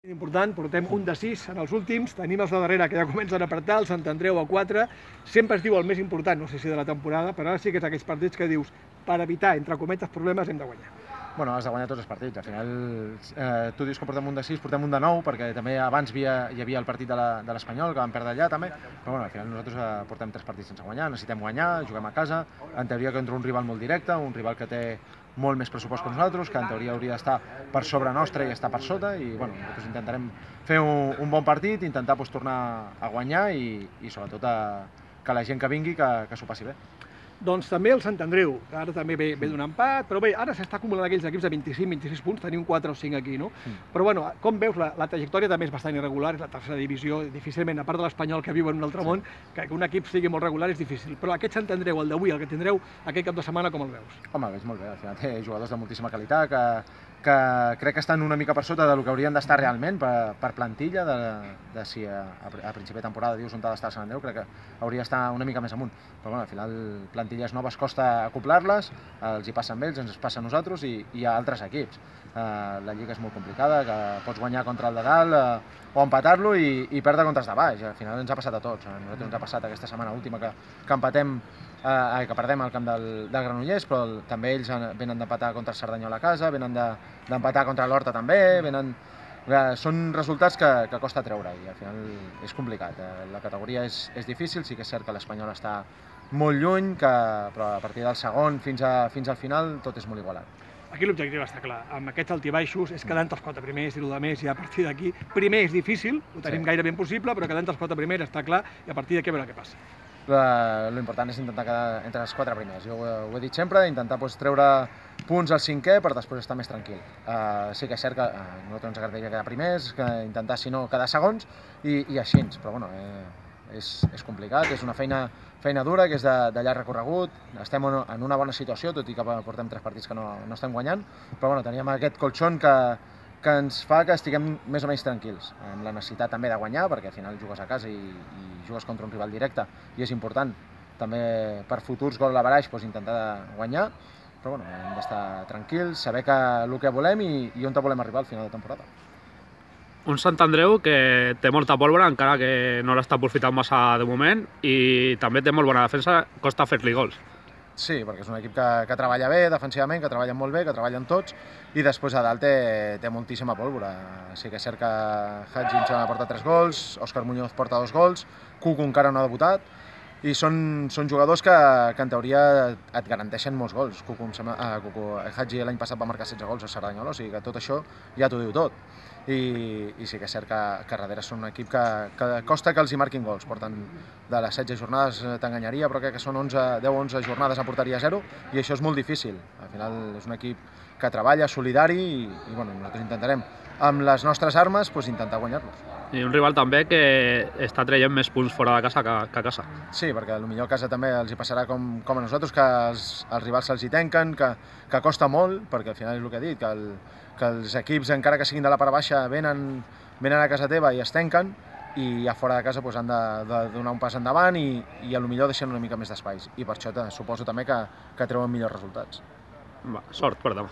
Important, portem un de 6 en els últims, tenim els de darrere que ja comencen a apretar, el Sant Andreu a 4, sempre es diu el més important, no sé si de la temporada, però ara sí que és aquells partits que dius, per evitar, entre cometes, problemes hem de guanyar. Bueno, has de guanyar tots els partits, al final tu dius que portem un de 6, portem un de 9, perquè també abans hi havia el partit de l'Espanyol, que vam perdre allà també, però bueno, al final nosaltres portem 3 partits sense guanyar, necessitem guanyar, juguem a casa, en teoria contra un rival molt directe, un rival que té molt més pressupost que nosaltres, que en teoria hauria d'estar per sobre nostra i estar per sota, i bueno, nosaltres intentarem fer un bon partit, intentar tornar a guanyar i sobretot que la gent que vingui que s'ho passi bé. Doncs també el Sant Andreu, que ara també ve d'un empat, però bé, ara s'està acumulant aquells equips de 25-26 punts, tenim 4 o 5 aquí, no? Però bueno, com veus, la trajectòria també és bastant irregular, és la tercera divisió, difícilment, a part de l'Espanyol que viu en un altre món, que un equip sigui molt regular és difícil. Però aquest Sant Andreu, el d'avui, el que tindreu aquest cap de setmana, com el veus? Home, el veig molt bé, al final té jugadors de moltíssima qualitat, que crec que estan una mica per sota del que haurien d'estar realment per plantilla, de si a principi de temporada dius on ha d'estar el Sant Andreu, crec que hauria d'estar una mica més amunt. Però bueno, al final plantilles noves costa acoplar-les, els hi passen ells, ens passa a nosaltres i hi ha altres equips. La lliga és molt complicada, que pots guanyar contra el de dalt o empatar-lo i perdre contra els de baix. Al final ens ha passat a tots. A nosaltres ens ha passat aquesta setmana última que empatem, que perdem al camp del Granollers, però també ells venen d'empatar contra el Cerdanyola a casa, venen d'empatar contra l'Horta també, són resultats que costa treure i al final és complicat. La categoria és difícil, sí que és cert que l'Espanyol està molt lluny, però a partir del segon fins al final tot és molt igualat. Aquí l'objectiu està clar, amb aquests altibaixos és quedant els 4 primers i el més, i a partir d'aquí, primer és difícil, ho tenim gairebé impossible, però quedant els 4 primers està clar i a partir d'aquí a veure què passa. L'important és intentar quedar entre els 4 primers. Jo ho he dit sempre, intentar treure punts al 5è per després estar més tranquil. Sí que és cert que a nosaltres ens agradaria quedar primers, intentar, si no, quedar segons i així, però bueno, és complicat, és una feina dura, que és de llarg recorregut, estem en una bona situació, tot i que portem 3 partits que no estem guanyant, però bueno, teníem aquest colxon que ens fa que estiguem més o menys tranquils, amb la necessitat també de guanyar, perquè al final jugues a casa i jugues contra un rival directe i és important també per futurs goal average intentar guanyar, però bueno, hem d'estar tranquils, saber el que volem i on volem arribar al final de temporada. Un Sant Andreu que té molta pólvora, encara que no l'està aprofitant massa de moment, i també té molt bona defensa, costa fer-li gols. Sí, perquè és un equip que treballa bé defensivament, que treballen molt bé, que treballen tots, i després a dalt té moltíssima pólvora. Sí que és cert que Hadji ens porta 3 gols, Òscar Muñoz porta 2 gols, Cucu encara no ha debutat, i són jugadors que en teoria et garanteixen molts gols. Hadji l'any passat va marcar 16 gols a Cerdanyola, o sigui que tot això ja t'ho diu tot. I sí que és cert que darrere són un equip que costa que els hi marquin gols. Porten de les 16 jornades, t'enganyaria, però crec que són 10-11 jornades a porteria 0 i això és molt difícil. Al final és un equip que treballa, solidari i bueno, nosaltres intentarem amb les nostres armes intentar guanyar-los. I un rival també que està traient més punts fora de casa que a casa. Sí, perquè potser a casa també els hi passarà com a nosaltres, que els rivals se'ls hi tanquen, que costa molt, perquè al final és el que he dit, que els equips, encara que siguin de la part baixa, venen a casa teva i es tanquen, i a fora de casa han de donar un pas endavant i potser deixen una mica més d'espais. I per això suposo també que treuen millors resultats. Sort per demà.